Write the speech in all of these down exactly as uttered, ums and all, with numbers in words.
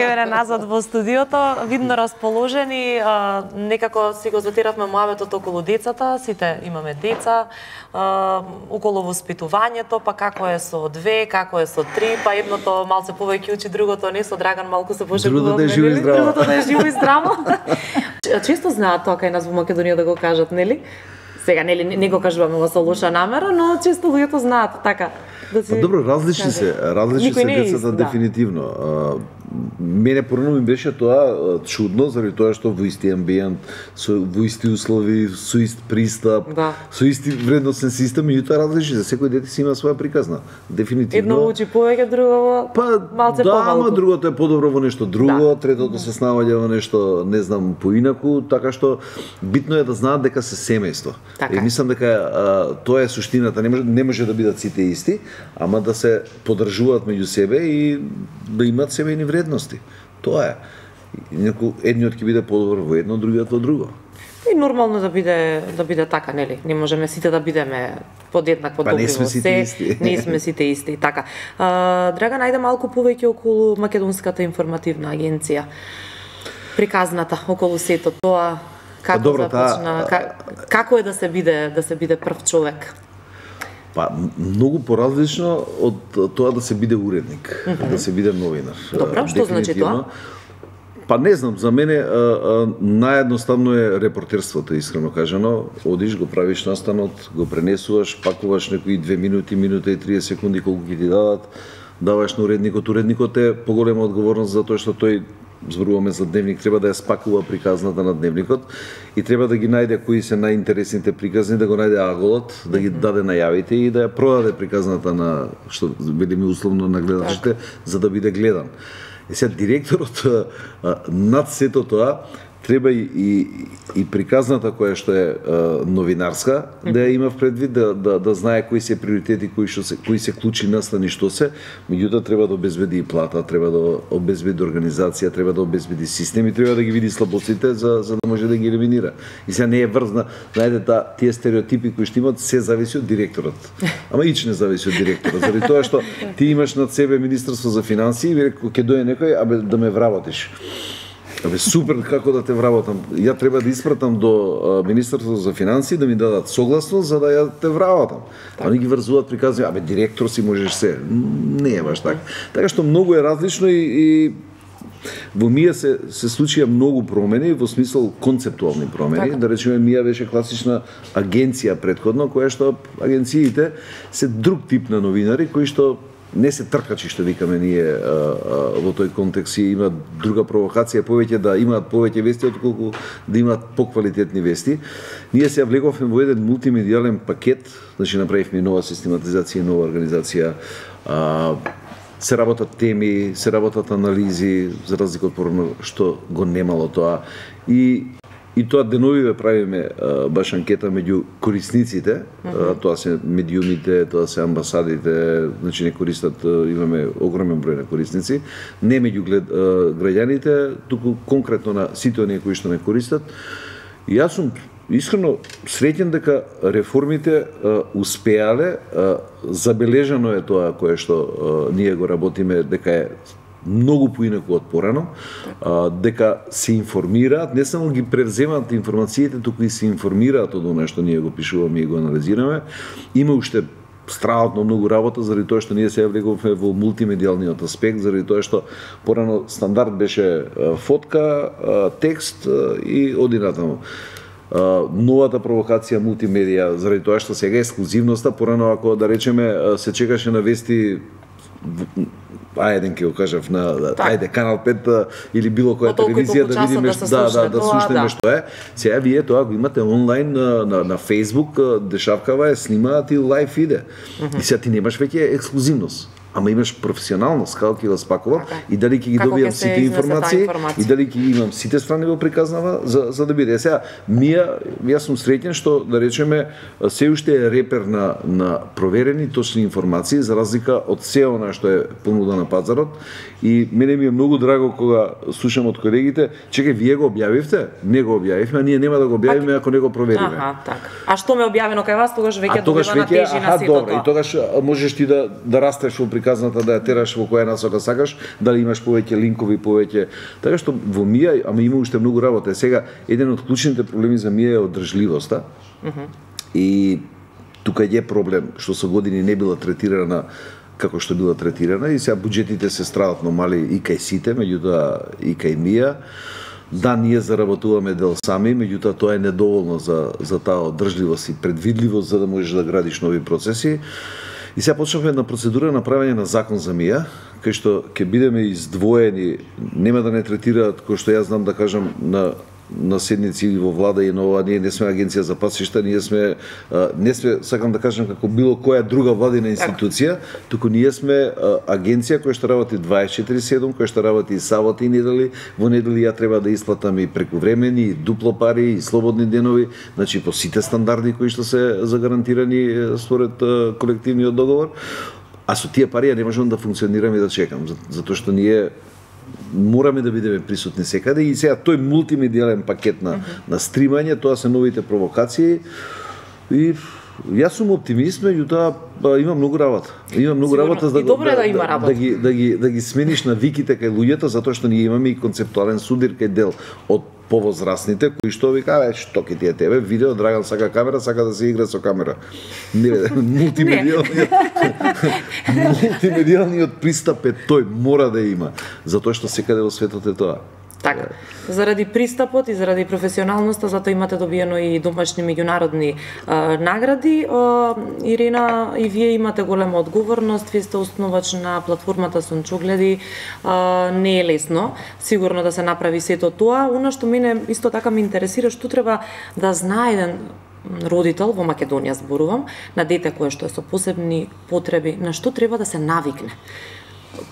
еве назад во студиото, видно расположени, а, некако си го затиравме муабетот околу децата, сите имаме деца, а, околу воспитувањето, па како е со две, како е со три, па едното малце повеќе учи, другото не, со Драган малку се пошегуваме. Другото да е живо и здраво. Другото да е живо и здраво. Често знаат тоа кај нас во Македонија да го кажат, нели? Сега, нели, не го кажуваме во со лоша намера, но често луѓето знаат така. Да си... Добро, различни се, различни се децата, дефинитивно. Да. Мене порано ми беше тоа чудно, заради тоа што во исти амбиент, со во исти услови, со ист пристап, да. со исти вредносен систем, и тоа различни се. Секој дете си има своја приказна. Дефинитивно. Едно учи повеќе, друго па, малце да, помалку. ама другото е подобро во нешто друго, да. третото се снаоѓа во нешто, не знам, поинаку, така што битно е да знаат дека се семејство. Така. И мислам дека а, тоа е суштината, не може, не може да бидат сите исти, ама да се поддржуваат меѓу себе и да имаат семејни вредности. Тоа е. Неко едниот ќе биде подобар во едно, другиот во друго. И нормално да биде да биде така, нели? Не можеме сите да бидеме подеднакво па, добри во се. Не сме сите исти, така. А, Драган, ајде малку повеќе околу Македонската информативна агенција. Приказната околу сето тоа, како па, добро, започна, та... како е да се биде да се биде прв човек? Па, многу поразлично од тоа да се биде уредник, mm -hmm. да се биде новинар. Добро, што значи тоа? Па не знам, за мене а, а, наједноставно е репортерството, искрено кажано. Одиш, го правиш настанот, го пренесуваш, пакуваш некои две минути, минута и тридесет секунди колку ќе ти дадат, даваш на уредникот. Уредникот е поголема одговорност за тоа што тој, зборуваме за дневник, треба да ја спакува приказната на дневникот и треба да ги најде кои се најинтересните приказни, да го најде аголот, да ги даде најавите и да ја продаде приказната на, што велиме условно, на гледачите, за да биде гледан. И сега директорот над сето тоа треба и, и, и приказната која што е а, новинарска, mm -hmm. да ја има в предвид, да, да, да знае кои се приоритети, кои, што се, кои се клучи настани што се, меѓутоа треба да обезбеди и плата, треба да обезбеди организација, треба да обезбеди системи, треба да ги види слабостите за, за да може да ги елиминира. И сега не е врзна, знаете, тие стереотипи кои што имат, се зависи од директорот. Ама ич не зависи од директорот, заради тоа што ти имаш над себе Министерство за финансии и ќе дојде некој, абе да ме вработиш. Абе супер, како да те вработам. Ја треба да испратам до Министерството за финансии да ми дадат согласност за да ја те вработам. Так. Они ги врзуваат приказни, абе директор си можеш се. Не е баш така. Така што многу е различно и, и во МИА се се случија многу промени во смисол концептуални промени. Така. Да речеме МИА беше класична агенција претходно, која што агенциите се друг тип на новинари кои што не се тркачи, што викаме ние а, а, во тој контекст, и имаат друга провокација, повеќе да имаат повеќе вести отколку да имаат поквалитетни вести. Ние се влеговме во еден мултимедијален пакет, значи направивме нова систематизација, нова организација, а, се работат теми, се работат анализи, за разлика од порано што го немало тоа. И И тоа деновиве правиме а, баш анкета меѓу корисниците, mm -hmm. а, тоа се медиумите, тоа се амбасадите, значи не користат, а, имаме огромен број на корисници, не меѓу глед, а, граѓаните, туку конкретно на сите оние кои што не користат. И јас сум искрено среќен дека реформите а, успеале, а, забележано е тоа кое што а, ние го работиме, дека е многу поинаку од порано, а, дека се информираат, не само ги превземаат информациите, туку и се информираат од она што ние го пишуваме и го анализираме. Има уште страшно многу работа заради тоа што ние се влеговме во мултимедијалниот аспект, заради тоа што порано стандард беше а, фотка, а, текст а, и оди натаму. Uh, новата провокација мултимедија, заради тоа што сега е ексклузивноста, порано ако да речеме се чекаше на вести, ајде ќе го кажав на так. Ајде Канал пет или било која телевизија да видиме да да да, да слушнеме да. Што е. Сега вие тоа го имате онлайн на на, на Facebook, дешавкава е, снимаат и лајв иде. Mm -hmm. И сега ти немаш веќе ексклузивност. Ама имаш професионалност, како ќе го спакувам така. И дали ќе ги добијам сите информации и дали ќе имам сите страни во приказнава за за да биде. Сега Мија, јас сум среќен што да речеме се уште е репер на на проверени точни информации за разлика од се она што е понуда на пазарот. И мене ми е многу драго кога слушам од колегите, чекај, вие го објавивте? Не го објавивме, а ние нема да го објавиме ако не го провериме. Аха, така. А што ме објавено кај вас, тогаш веќе добива на тежина сето тоа. И тогаш можеш ти да да растеш во приказната да ја тераш во која насока сакаш, дали имаш повеќе линкови, повеќе. Така што во Мија, ама има уште многу работа. Сега еден од клучните проблеми за Мија е одржливоста. Mm-hmm. И тука е проблем што со години не била третирана како што била третирана и сега буџетите се страдатно мали и кај сите, меѓутоа и кај Мија. Да, ние заработуваме дел сами, меѓутоа тоа е недоволно за за таа одржливост и предвидливост за да можеш да градиш нови процеси. И сега почнавме една процедура на правење на закон за Мија, кај што ќе бидеме издвоени, нема да не третираат кој што јас знам да кажам на на седници или во влада и на ова, ние не сме агенција за патишта, ние сме не сме, сакам да кажам како било која друга владина институција, туку ние сме агенција која што работи дваесет и четири седум, која што работи и саботи и недели, во недели ја треба да исплатам и прекувремени, и дупло пари, и слободни денови, значи по сите стандарди кои што се загарантирани според колективниот договор. А со тие пари ја не можам да функционирам и да чекам, затоа што ние мораме да бидеме присутни секаде и сега тој мултимедијален пакет на, mm-hmm. на стримање, тоа се новите провокации и јас сум оптимист, меѓутоа има многу работа. Има многу Сигурно. работа за да, да, да, да, да, да, ги, да, ги, да ги смениш навиките кај луѓето, затоа што ние имаме и концептуален судир кај дел од повозрастните кои што вика, абе, што ќе ти е тебе, видео, Драган сака камера, сака да се игра со камера. Не, мултимедијалниот мултимедијалниот пристап е тој, мора да има, затоа што секаде во светот е тоа. Така. Заради пристапот и заради професионалноста, затоа имате добиено и домашни меѓународни а, награди. А, Ирина, и вие имате голема одговорност, вие сте основач на платформата Сончогледи. А, не е лесно, сигурно да се направи сето тоа. Оно што мене исто така ме интересира, што треба да знае еден родител, во Македонија зборувам, на дете кое што е со посебни потреби, на што треба да се навикне.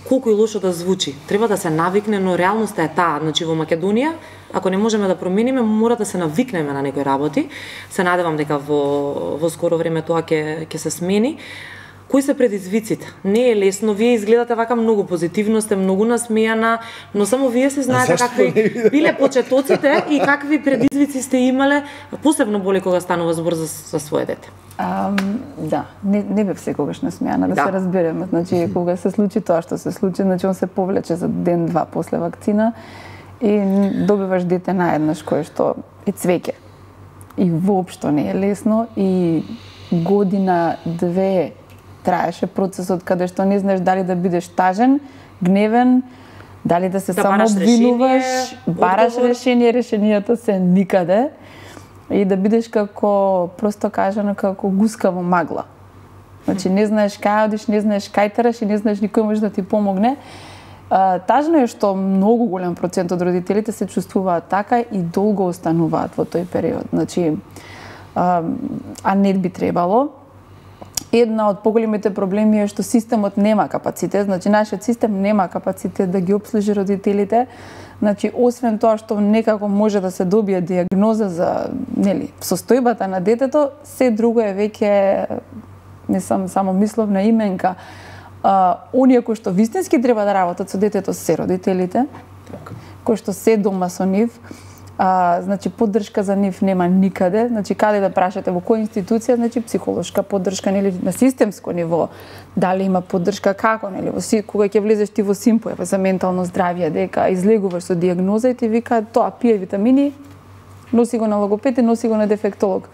Колку и лошо да звучи, треба да се навикне, но реалноста е таа. Значи во Македонија, ако не можеме да промениме, мора да се навикнеме на некои работи. Се надевам дека во во скоро време тоа ќе ќе се смени. Кои се предизвиците? Не е лесно, вие изгледате вака многу позитивно, сте многу насмејана, но само вие се знаете какви биле почетоците и какви предизвици сте имале, посебно боли кога станува збор за, за свое дете. Um, да, не, не бев секогаш насмејана, да, да се разбереме. Значи, кога се случи тоа што се случи, значи он се повлече за ден-два после вакцина и добиваш дете наеднаш кое што е цвеќе. И воопшто не е лесно и година-две траеше процесот каде што не знаеш дали да бидеш тажен, гневен, дали да се да само обвинуваш, бараш решение, решенијата се никаде и да бидеш како, просто кажано, како гуска во магла. Значи не знаеш кај одиш, не знаеш кај тераш и не знаеш никој може да ти помогне. А, тажно е што многу голем процент од родителите се чувствуваат така и долго остануваат во тој период. Значи, а, а не би требало. Една од поголемите проблеми е што системот нема капацитет, значи нашиот систем нема капацитет да ги обслужи родителите. Значи освен тоа што некако може да се добие диагноза за, нели, состојбата на детето, се друго е веќе, не сам само мисловна именка. А, оние кои што вистински треба да работат со детето се родителите, кои што се дома со нив. А, значи поддршка за нив нема никаде, значи каде да прашате во која институција, значи психолошка поддршка, нели, на системско ниво, дали има поддршка, како, нели, во кога ќе влезеш ти во Симпо за ментално здравје, дека излегуваш со диагноза и ти вика тоа пие витамини, носи го на логопед и носи го на дефектолог.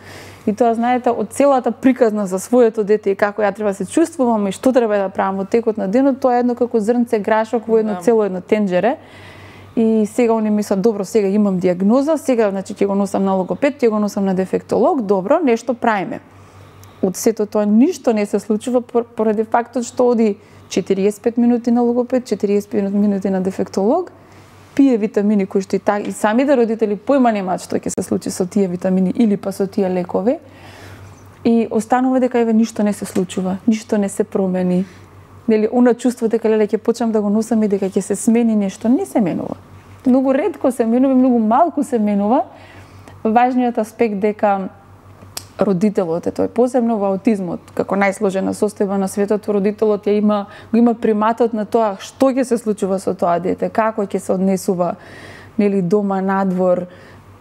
И тоа знаете од целата приказна за своето дете и како ја треба да се чувствувам и што треба да правам во текот на денот, тоа е едно како зрнце грашок во едно цело едно тенџере. И сега они мислат, добро, сега имам диагноза, сега значи ќе го носам на логопед, ќе го носам на дефектолог, добро, нешто правиме. Од сето тоа ништо не се случува поради фактот што оди четириесет и пет минути на логопед, четириесет и пет минути на дефектолог, пие витамини кои што и так и самите родители појма немаат што ќе се случи со тие витамини или па со тие лекови. И останува дека еве ништо не се случува, ништо не се промени. Нели, она чувство дека леле ќе почнам да го носам и дека ќе се смени нешто, не се менува. Многу ретко се менува, многу малку се менува. Важниот аспект дека родителот е тој, посебно во аутизмот, како најсложена состојба на светот, родителот ја има, го има приматот на тоа што ќе се случува со тоа дете, како ќе се однесува, нели, дома, надвор,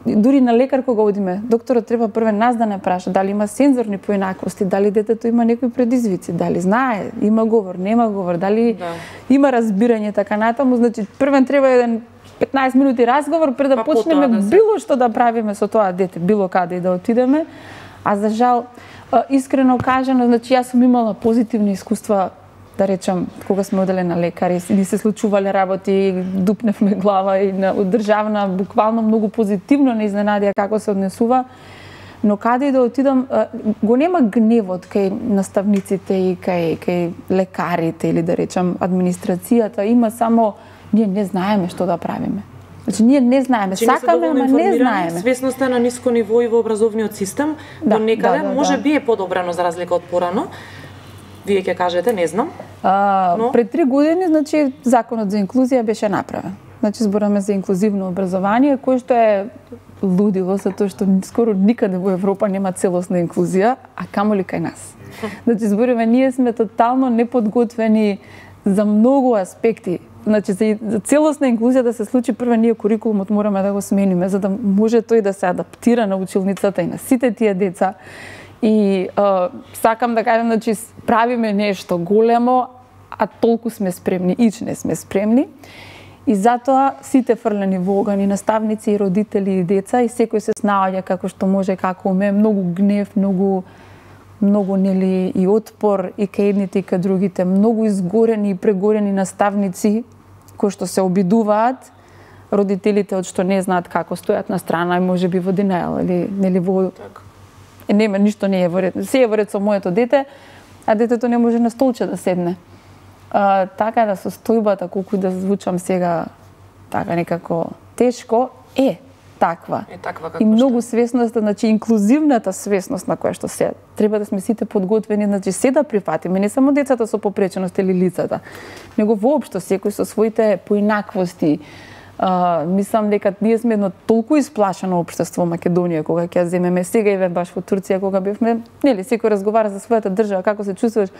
дури на лекар кога одиме, докторот треба прве нас да не праша дали има сензорни поинаквости, дали детето има некои предизвици, дали знае, има говор, нема говор, дали да. има разбирање така натаму, значи првен треба еден петнаесет минути разговор пред да па почнеме да се... било што да правиме со тоа дете, било каде и да отидеме. А за жал, искрено кажано, значи јас сум имала позитивни искуства, да речам, кога сме оделе на лекари, ни се случувале работи, дупневме глава и на одржавна, буквално многу позитивно не изненадија како се однесува, но каде и да отидам, го нема гневот кај наставниците и кај, кај лекарите или да речам администрацијата, има само ние не знаеме што да правиме. Значи ние не знаеме, Че сакаме, ама не знаеме. Свесноста на ниско ниво и во образовниот систем, да, до некаде да, да, може да. би е подобрано за разлика од порано. Вие ќе кажете, не знам. А, но... Пред три години, значи, законот за инклузија беше направен. Значи, збораме за инклузивно образование, кој што е лудило, затоа што скоро никаде во Европа нема целосна инклузија, а камоли кај нас. Значи, зборуваме, ние сме тотално неподготвени за многу аспекти. Значи, за, за целосна инклузија да се случи, прво ние курикулумот мораме да го смениме, за да може тој да се адаптира на училницата и на сите тие деца. И а, сакам да кажам, значи, правиме нешто големо, а толку сме спремни, ич не сме спремни. И затоа сите фрлени во оган, и наставници, и родители, и деца, и секој се снаоѓа како што може, како уме, многу гнев, многу многу нели и отпор и кај едните и кај другите, многу изгорени и прегорени наставници кои што се обидуваат, родителите од што не знаат како стојат на страна и можеби во денејал или нели во така. Е, нема ништо не е во ред. Се е во ред со моето дете, а детето не може на столче да седне. А, така да состојбата, колку да звучам сега така некако тешко, е таква. Е таква како и многу свесност, значи инклузивната свесност на која што се треба да сме сите подготвени, значи се да прифатиме, не само децата со попреченост или лицата, него воопшто секој со своите поинаквости. Uh, мислам дека ние сме едно толку исплашено општество во Македонија кога ќе ја земеме сега и баш во Турција кога бевме, нели секој разговара за својата држава, како се чувствуваш.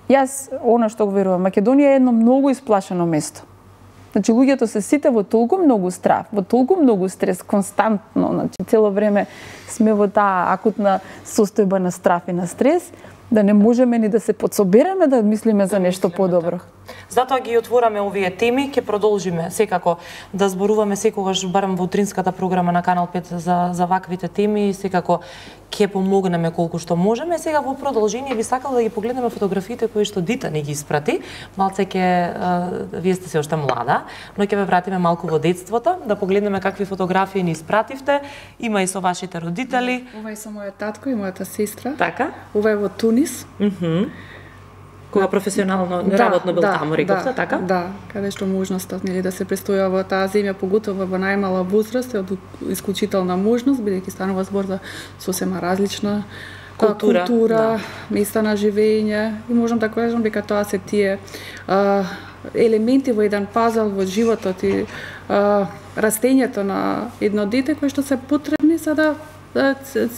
Јас она што го верувам, Македонија е едно многу исплашено место. Значи луѓето се сите во толку многу страв, во толку многу стрес константно, значи цело време сме во таа акутна состојба на страв и на стрес, да не можеме ни да се подсобереме да мислиме за нешто подобро. Затоа ги отвораме овие теми, ќе продолжиме секако да зборуваме секогаш барем во утринската програма на Канал пет за за ваквите теми и секако ќе помогнеме колку што можеме. Сега во продолжение би сакала да ги погледнеме фотографиите кои што Дита ни ги испрати. Малце ќе вие сте се уште млада, но ќе ве вратиме малку во детството, да погледнеме какви фотографии ни испративте. Има и со вашите родители. Ова е со мојот татко и мојата сестра. Така. Ова е во Тунис. Мхм. Кога професионално да, работно бил да, таму, рековте, да, така? Да, каде што можноста нели да се престоја во таа земја, поготово во најмала возраст, е од исклучителна можност, бидејќи станува збор за сосема различна култура, култура да. Места на живење, и можам да кажам дека тоа се тие а, елементи во еден пазл во животот и а, растењето на едно дете кои што се потребни за да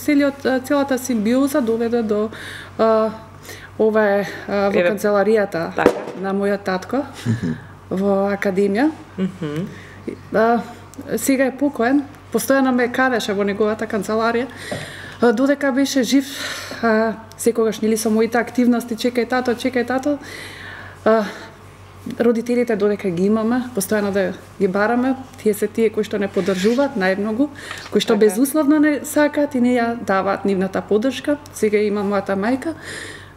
целиот целата симбиоза доведе до а, ова е а, во канцеларијата так. на мојот татко во академија. Mm-hmm. А, сега е покоен, постојано ме кадеше во неговата канцеларија. А, додека беше жив, а, секогаш нели со моите активности, чекај тато, чекај тато. А, родителите додека ги имаме, постојано да ги бараме, тие се тие кои што не поддржуваат најмногу, кои што безусловно не сакаат и не ја даваат нивната поддршка. Сега има мојата мајка,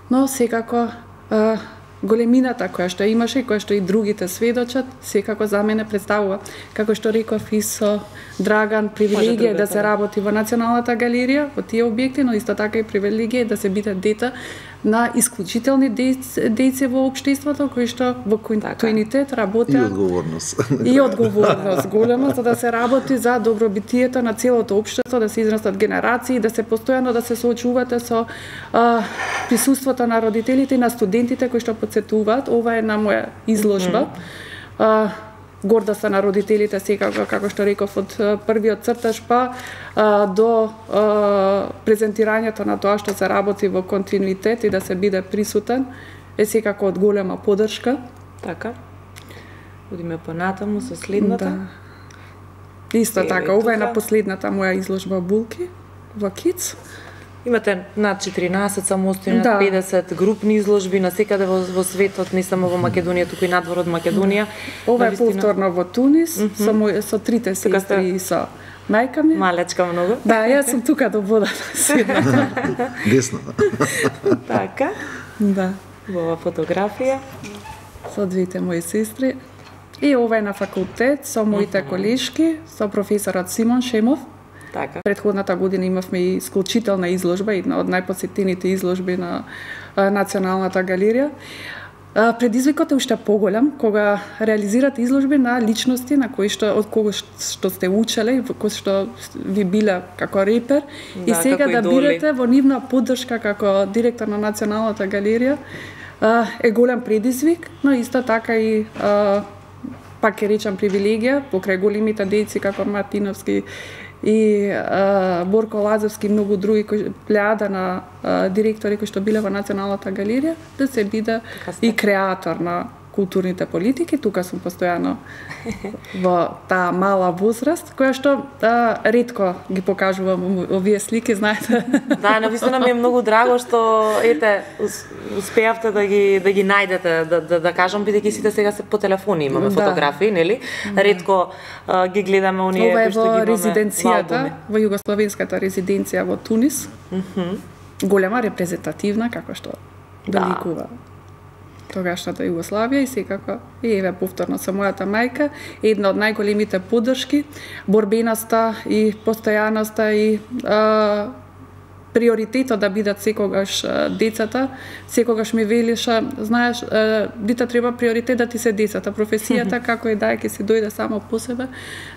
но секако а, големината која што имаше и која што и другите сведочат, секако за мене представува, како што реков и со Драган, привилегија да се работи во Националната галерија, во тие објекти, но исто така и привилегија да се биде дете на исклучителни дејци во општеството кои што во континуитет работат. И одговорност. И одговорност голема за да се работи за добробитието на целото општество, да се израстат генерации, да се постојано да се соочувате со а, присуството на родителите и на студентите кои што подсетуваат. Ова е на моја изложба. А, гордоста на родителите секако, како што реков, од првиот цртаж па а, до а, презентирањето на тоа што се работи во континуитет и да се биде присутен, е секако од голема поддршка. Така. Одиме понатаму со следната. Да. Исто Еве, така, ова е тука. на последната моја изложба Булки во Киц. Имате над четиринаесет самостојни, Да. над педесет групни изложби на секаде во, во светот, не само во Македонија, туку и надвор од Македонија. Ова е Навистина, повторно во Тунис, mm -hmm. со, мој, со трите Тука сте- сестри и со мајка ми. Малечка многу. Да, јас сум тука до водата седна. Десна. Така, Да, во ова фотографија. со двете мои сестри. И ова е на факултет со моите Мгм. колешки, со професорот Симон Шемов. Така. Предходната година имавме и исклучителна изложба, една од најпосетените изложби на а, Националната галерија. А, предизвикот е уште поголем кога реализирате изложби на личности на кои што од кого што, што сте учеле, кои што ви биле како репер и Да, сега како да идоли. бидете во нивна поддршка како директор на Националната галерија а, е голем предизвик, но исто така и а, пак ќе речам привилегија покрај големите дејци како Мартиновски и а, Борко Лазовски и многу други кои плејада на а, директори кои што биле во Националната галерија, да се биде сте. и креатор на културните политики. Тука сум постојано во таа мала возраст, која што а, ретко ги покажувам овие слики, знаете. Да, навистина ми е многу драго што ете ус- успеавте да ги да ги најдете, да да, да кажам бидејќи сите сега се по телефони имаме Да. фотографии, нели? Ретко а, ги гледаме оние Ова е кои што ги во имаме резиденцијата, албуми. во југословенската резиденција во Тунис. Мгм. Голема репрезентативна, како што Да. доликува тогашната Југославија и секако и еве повторно со мојата мајка, една од најголемите поддршки, борбеноста и постојаноста и а, приоритетот да бидат секогаш а, децата, секогаш ми велиша, знаеш, а, дете треба приоритет да ти се децата, професијата како и да е ќе се дојде само по себе,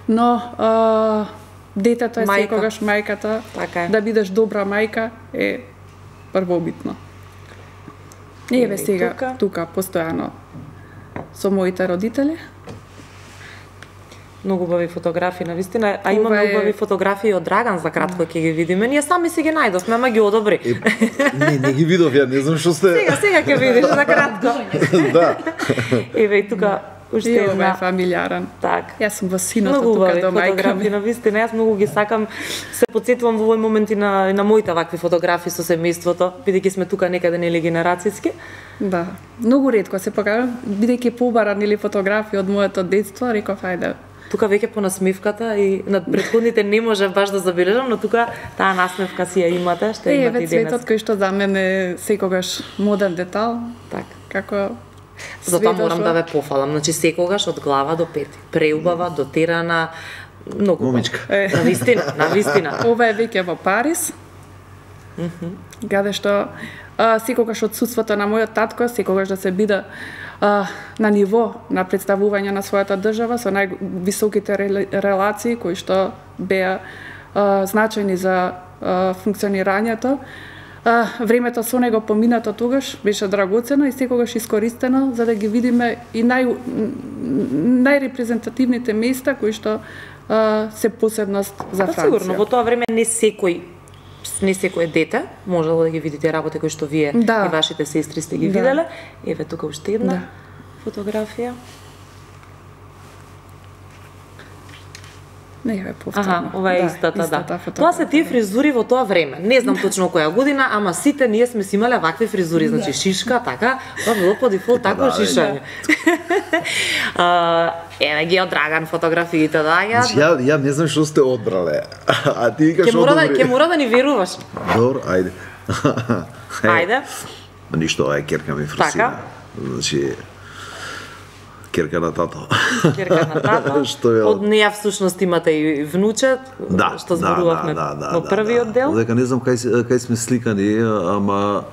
но а, детето е Мајка. секогаш мајката, Така е. да бидеш добра мајка е првобитно. И еве Еве и сега тука. тука постојано со моите родители. Многу убави фотографии навистина, а имаме Ова е- убави фотографии од Драган за кратко ќе ги видиме. Ние сами си ги најдовме, ама ги одобри. Е, не, не ги видов, ја не знам што сте. Сега, сега ќе видиш за кратко. Да. Еве и тука уште И ова е една. фамилиарен. Така. Јас сум во синото Многу тука убави до мајка фотографии, ми. на вистина, јас многу ги сакам. Се потсетувам во овој момент и на, и на моите вакви фотографии со семејството, бидејќи сме тука некаде нели генерацијски. Да. Многу ретко се покажам, бидејќи побаран или фотографии од моето детство, реков ајде. Тука веќе по насмевката и над претходните не можев баш да забележам, но тука таа насмевка си ја имате, што Е, имате еве и денес. цветот кој што за мене е секогаш моден детал, Така. како Затоа све морам дошло. да ве пофалам, значи секогаш од глава до пети. Преубава, дотерана, многу. Момичка. Е. На вистина, на вистина. Ова е веќе во Париз. Каде што а, секогаш одсуството на мојот татко, секогаш да се биде а, на ниво на представување на својата држава со највисоките рел- релации кои што беа а, значајни за а, функционирањето. А, времето со него поминато тогаш беше драгоцено и секогаш искористено за да ги видиме и нај најрепрезентативните места кои што а, се посебност за Па Франција. сигурно, во тоа време не секој не секој дете можело да ги видите работи кои што вие Да. и вашите сестри сте ги Да. виделе. Еве тука уште една Да. фотографија. Не, еве повторно. Аха, ова е Да, истата, да. фотографија. Тоа се тие фризури во тоа време. Не знам точно која година, ама сите ние сме си имале вакви фризури, значи шишка, така, тоа било по дефолт такво Да, шишање. А, еве ги од Драган фотографиите, да, ја. Значи, ја, ја не знам што сте одбрале. А ти викаш Ќе мора да одобри. ќе мора да ни веруваш. Добро, ајде. Ајде. Ништо, ова е керка ми фрсина. Така. Значи, керка на тато. Керка на тато. Што е Од неја всушност имате и внуче, Да, што зборувавме да, да, да, во да, првиот да. дел. Дека не знам кај, се- кај сме сликани, ама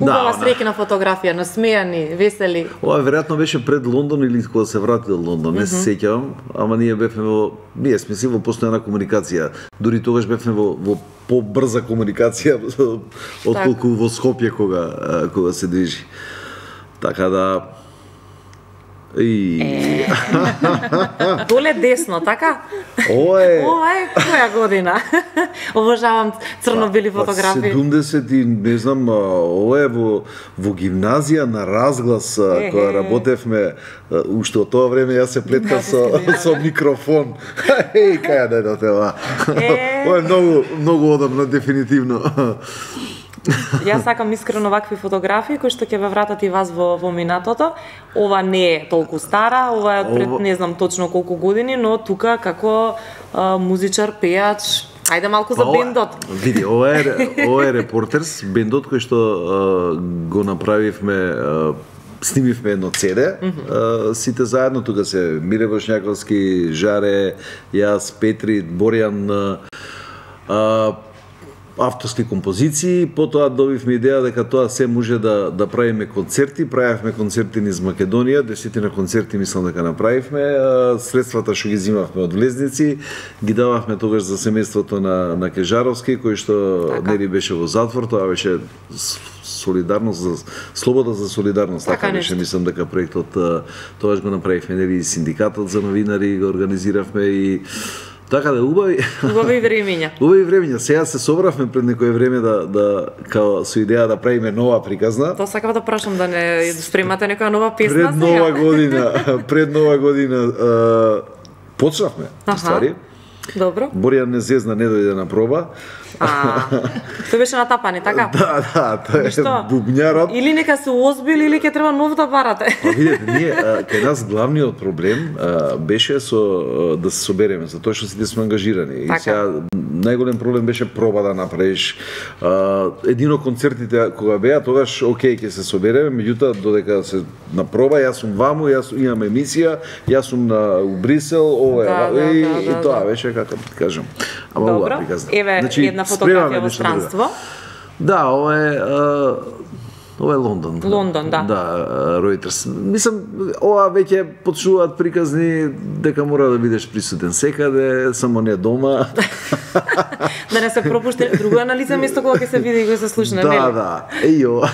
Убава Да, среќна фотографија, насмејани, весели. ова веројатно беше пред Лондон или кога се врати од Лондон, не се сеќавам, ама ние бевме во ние сме си во постојана комуникација. Дури тогаш бевме во во побрза комуникација отколку во Скопје кога а, кога се движи. Така да И... Доле десно, така? Ова е... Ова е која година? Обожавам црно-бели фотографии. седумдесет и не знам, ова е во, во гимназија на разглас, е, кога работевме, уште од тоа време јас се плеткав со, со микрофон. Еј, каја да едоте ова? Ова е многу, многу одамно, дефинитивно. Јас сакам искрено вакви фотографии кои што ќе ве вратат и вас во, во минатото. Ова не е толку стара, ова е пред не знам точно колку години, но тука како а, музичар, пејач, ајде малку за бендот. Види, ова е, ова е Репортерс, бендот кој што а, го направивме, а, снимивме едно цеде, mm -hmm. а, сите заедно, тука се Мире Бошњаковски, Жаре, јас, Петри, Боријан, а, авторски композиции, потоа добивме идеја дека тоа се може да да правиме концерти, правевме концерти низ Македонија, десетина концерти мислам дека направивме, средствата што ги зимавме од влезници, ги дававме тогаш за семејството на на Кежаровски, кој што така. Нели беше во затвор, тоа беше солидарност за слобода за солидарност, така, така беше, мислам дека проектот тогаш го направивме, нели синдикатот за новинари го организиравме и така да убави убави времења. Убави времења. Сега се собравме пред некое време да да као со идеја да правиме нова приказна. Тоа сакам да прашам да не спремате некоја нова песна пред нова година, пред нова година а, почнавме, ствари. Добро. Боријан не зезна, не дојде на проба. А, тој беше натапани, така? Да, да, тој е бубњарот. Или нека се озбили, или ќе треба нов да барате. Па видете, ние, кај нас главниот проблем а, беше со а, да се собереме, затоа што сите сме ангажирани. Така. И сега најголем проблем беше проба да направиш. А, едино концертите кога беа, тогаш окей ќе се собереме, меѓутоа додека се на проба, јас сум ваму, јас имам емисија, јас сум на у Брисел, ова да, да, и, да, да, и тоа да. беше како да кажам. Ама добро, еве значи, една фотографија во странство. Да, ова е а, ова е Лондон. Лондон, да. Да, Reuters. Мислам, ова веќе почнуваат приказни дека мора да бидеш присутен секаде, само не дома. Да не се пропушти друго на лице место кога ќе се види и го се слушне, нели? Да, да. Ејо.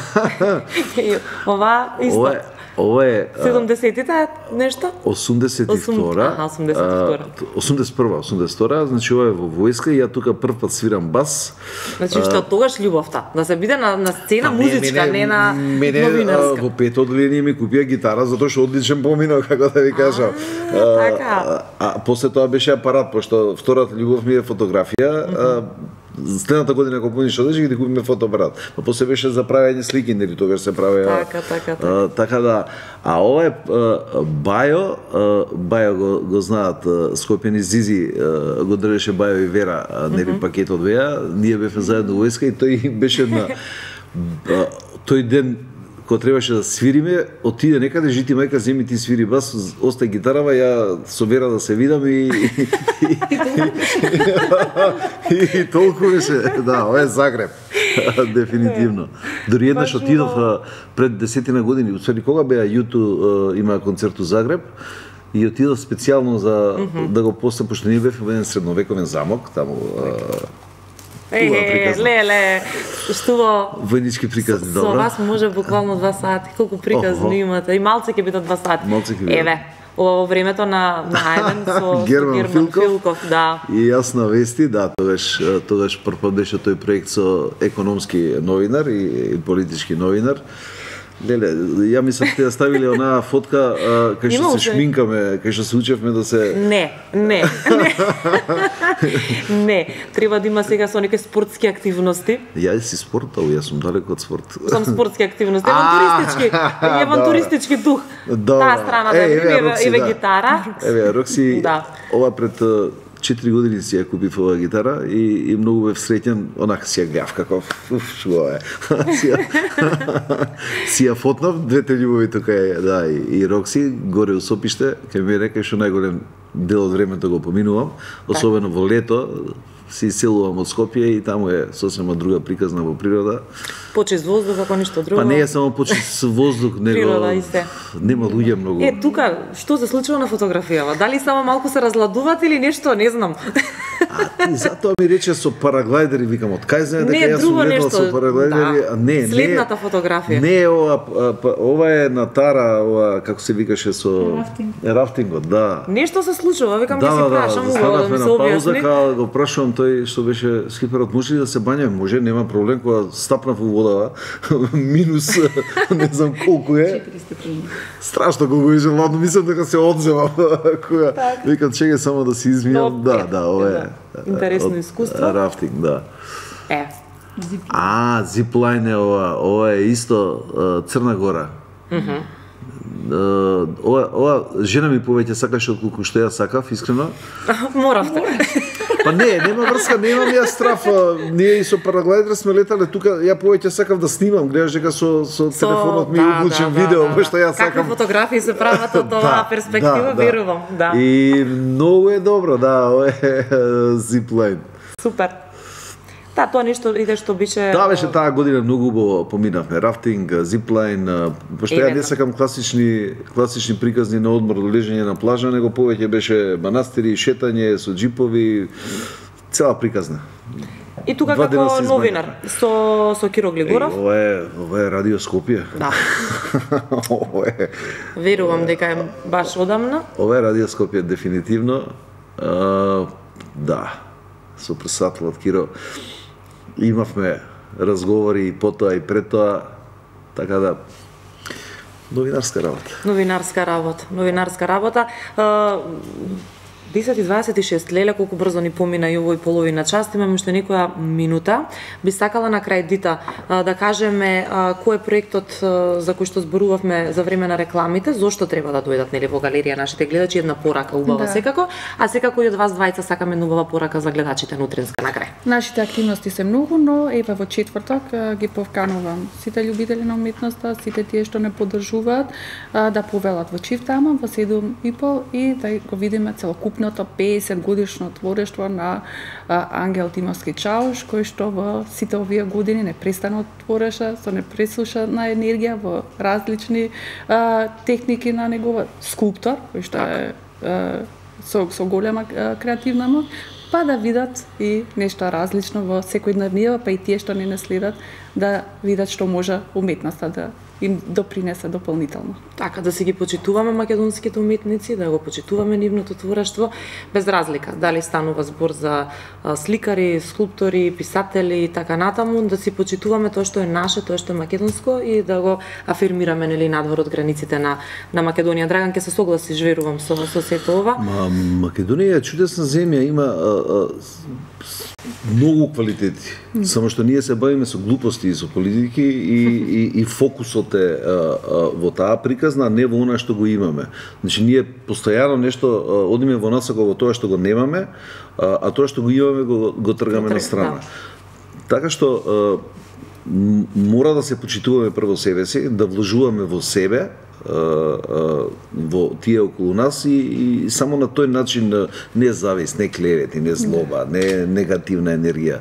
Ова исто. Ова е Ова е седумдесетите нешто? осумдесет и втора. Аха, осумдесет и втора. осумдесет и прва, осумдесет и втора, значи ова е во војска и ја тука прв пат свирам бас. Значи што тогаш љубовта, да се биде на на сцена музичка, не на новинарска. Во пето одделение ми купија гитара затоа што одличен поминал, како да ви кажам. Така. А после тоа беше апарат, пошто втората љубов ми е фотографија. Следната година кога помниш одеш ги купиме фотоапарат. Па после беше за правење слики, нели тогаш се правеа. Така, така, така. Така да, а ова е Бајо, Бајо го, го знаат Скопјани Зизи, го држеше Бајо и Вера, нели mm -hmm. пакетот беа, ние бевме заедно во войска и тој беше на тој ден кога требаше да свириме, отиде некаде, жити мајка, земи ти свири бас, остај гитарава, ја со Вера да се видам и и толку беше, да, ова е Загреб, дефинитивно. Дори еднаш отидов пред десетина години, усвари кога беа Јуту има концерт у Загреб, и отидов специјално за да го постам, пошто ние бевме во еден средновековен замок, таму Е, леле, што војнички приказни, добро. Со вас може буквално два сати, колку приказни имате. И малце ќе бидат два сати. Малце ќе бидат. Еве, ова во времето на на Ајден со Герман, Герман Филков. Филков, да. И јас на вести, да, тогаш тогаш прв пат беше тој проект со економски новинар и, и политички новинар. Леле, ја мислам те ја ставиле онаа фотка кај што се шминкаме, кај што се учевме да се Не, не. Не. Не, треба да има сега со некои спортски активности. Ја си спортал, јас сум далеко од спорт. Сам спортски активности, авантуристички, авантуристички дух. Таа страна да еве еве гитара. Еве Рокси, да. Ова пред четири години си ја купив оваа гитара и, и многу бев среќен, онака си ја гледав како уф, што е. си, ја, си ја фотнав, двете љубови тука е, да, и, и Рокси горе у Сопиште, кај ми река што најголем дел од времето го поминувам, особено во лето, се иселувам од Скопје и таму е сосема друга приказна во природа. Почист воздух, ако ништо друго. Па не е само почист воздух, него природа и се. Нема луѓе многу. Е, тука, што се случува на фотографијава? Дали само малку се разладуваат или нешто, не знам. А ти затоа ми рече со параглайдери, викам, од кај знае дека јас друго сум летал нешто, со параглайдери, да. а не, не. Следната фотографија. Не, ова, па, ова е на Тара, ова, како се викаше со... Рафтинг. Рафтингот, да. Нешто се случува, викам Да, ќе си да, да, прашам убаво да застанавме ми се на пауза, објасни. као го прашувам тој што беше скиперот, може ли да се бањаме? Може, нема проблем, кога стапнав во водава, минус не знам колку е. четири степени. Страшно колку беше ладно, мислам дека се одземам. Кога викам чекај само да се измијам. Да, да, ова е. Интересно искуство. Рафтинг, да. Е, А, зиплайн е ова, ова е исто Црна Гора. Мгм. Ова, ова жена ми повеќе сакаше отколку што ја сакав, искрено. моравте. Па не, нема врска, немам ја страф. Ние и со параглайдер сме летале тука, ја повеќе сакав да снимам, гледаш дека со со телефонот ми да, уклучен да, видео, да, па што ја Какви сакам. фотографии се прават од оваа перспектива, верувам, да. И многу е добро, да, ова е зиплайн. Супер. Да, тоа нешто иде што беше... Таа беше таа година многу убаво поминавме. Рафтинг, зиплайн, пошто ја не сакам класични класични приказни на одмор, лежење на плажа, него повеќе беше манастири, шетање со джипови, цела приказна. И тука Два дена како се новинар со со Киро Глигоров. Е, ова е, ова е Радио Скопје. Да. ова е, Верувам дека е баш одамна. ова е Радио Скопје дефинитивно. А, да. Со председателот Киро имавме разговори и потоа и пред тоа, така да новинарска работа. Новинарска работа, новинарска работа. десет и дваесет и шест, леле колку брзо ни помина и овој половина час, имаме уште некоја минута. Би сакала на крај, Дита, да кажеме кој е проектот за кој што зборувавме за време на рекламите, зошто треба да дојдат нели во галерија нашите гледачи, една порака убава Да. секако, а секако и од вас двајца сакаме една убава порака за гледачите на утринска на крај. Нашите активности се многу, но еве во четврток а, ги повканувам сите љубители на уметноста, сите тие што не поддржуваат, а, да повелат во Чифтама во седум и пол и да го видиме целокупното песет годишно творештво на а, Ангел Тимовски Чауш, кој што во сите овие години непрестано твореше со непресушена енергија во различни а, техники на негова скулптор, кој што е а, со, со голема а, креативна моќ, па да видат и нешто различно во секојдневниот, па и тие што не не следат, да видат што може уметноста да им допринесе дополнително. Така, да си ги почитуваме македонските уметници, да го почитуваме нивното творештво, без разлика, дали станува збор за а, сликари, скулптори, писатели и така натаму, да си почитуваме тоа што е наше, тоа што е македонско и да го афирмираме нели надвор од границите на на Македонија. Драган ќе се согласиш, верувам, со со сето ова. Ма, Македонија е чудесна земја, има а, а, многу квалитети. Mm. Само што ние се бавиме со глупости и со политики и, и, и фокусот е а, а, во таа приказна, а не во она што го имаме. Значи ние постојано нешто а, одиме во насока во тоа што го немаме, а, а тоа што го имаме го, го тргаме на страна. Да. Така што а, мора да се почитуваме прво себе си, да вложуваме во себе, во тие околу нас и, и само на тој начин не завист, не клевети, не злоба, не негативна енергија.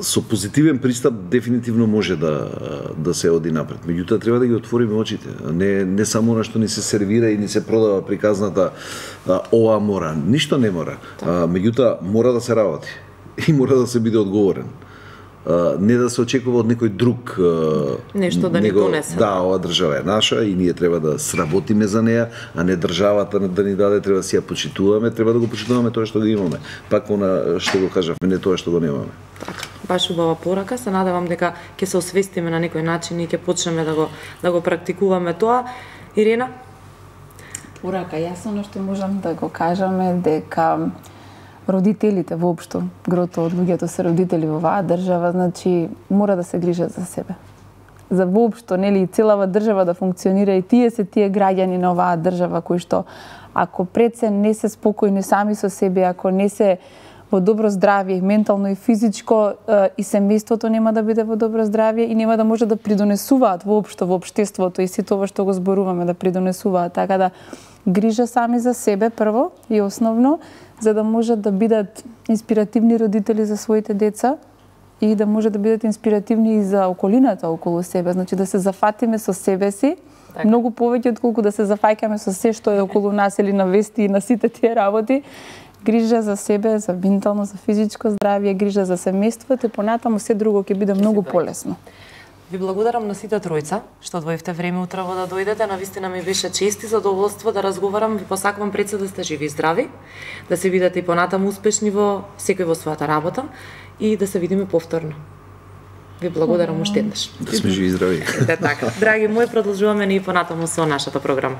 Со позитивен пристап дефинитивно може да да се оди напред. Меѓутоа треба да ги отвориме очите. Не не само она што ни се сервира и ни се продава приказната ова мора, ништо не мора. Меѓутоа мора да се работи и мора да се биде одговорен. Uh, не да се очекува од некој друг uh, нешто да него, ни донесе. Да, оваа држава е наша и ние треба да сработиме за неа, а не државата да ни даде, треба да си ја почитуваме, треба да го почитуваме тоа што го имаме. Пак она што го кажавме, не тоа што го немаме. Така, баш убава порака, се надевам дека ќе се освестиме на некој начин и ќе почнеме да го да го практикуваме тоа. Ирена? Порака, јасно што можам да го кажаме дека родителите воопшто, грото од луѓето се родители во оваа држава, значи мора да се грижат за себе. За воопшто, нели, целава држава да функционира и тие се тие граѓани на оваа држава кои што ако пред се не се спокојни сами со себе, ако не се во добро здравје, ментално и физичко, и семејството нема да биде во добро здравје и нема да може да придонесуваат воопшто во општеството и сето ова што го зборуваме да придонесуваат, така да грижа сами за себе прво и основно, за да можат да бидат инспиративни родители за своите деца и да може да бидат инспиративни и за околината околу себе. Значи да се зафатиме со себе си, так. Многу повеќе отколку да се зафаќаме со се што е околу нас или на вести и на сите тие работи. грижа за себе, за ментално, за физичко здравје, грижа за семејството и понатаму се друго ќе биде многу полесно. Ви благодарам на сите тројца што одвоивте време утрово да дојдете. Навистина ми беше чест и задоволство да разговарам. Ви посакувам пред се да сте живи и здрави, да се видите и понатаму успешни во секој во својата работа и да се видиме повторно. Ви благодарам уште еднаш. Да сме живи и здрави. Ете така. Драги мои, продолжуваме ни и понатаму со нашата програма.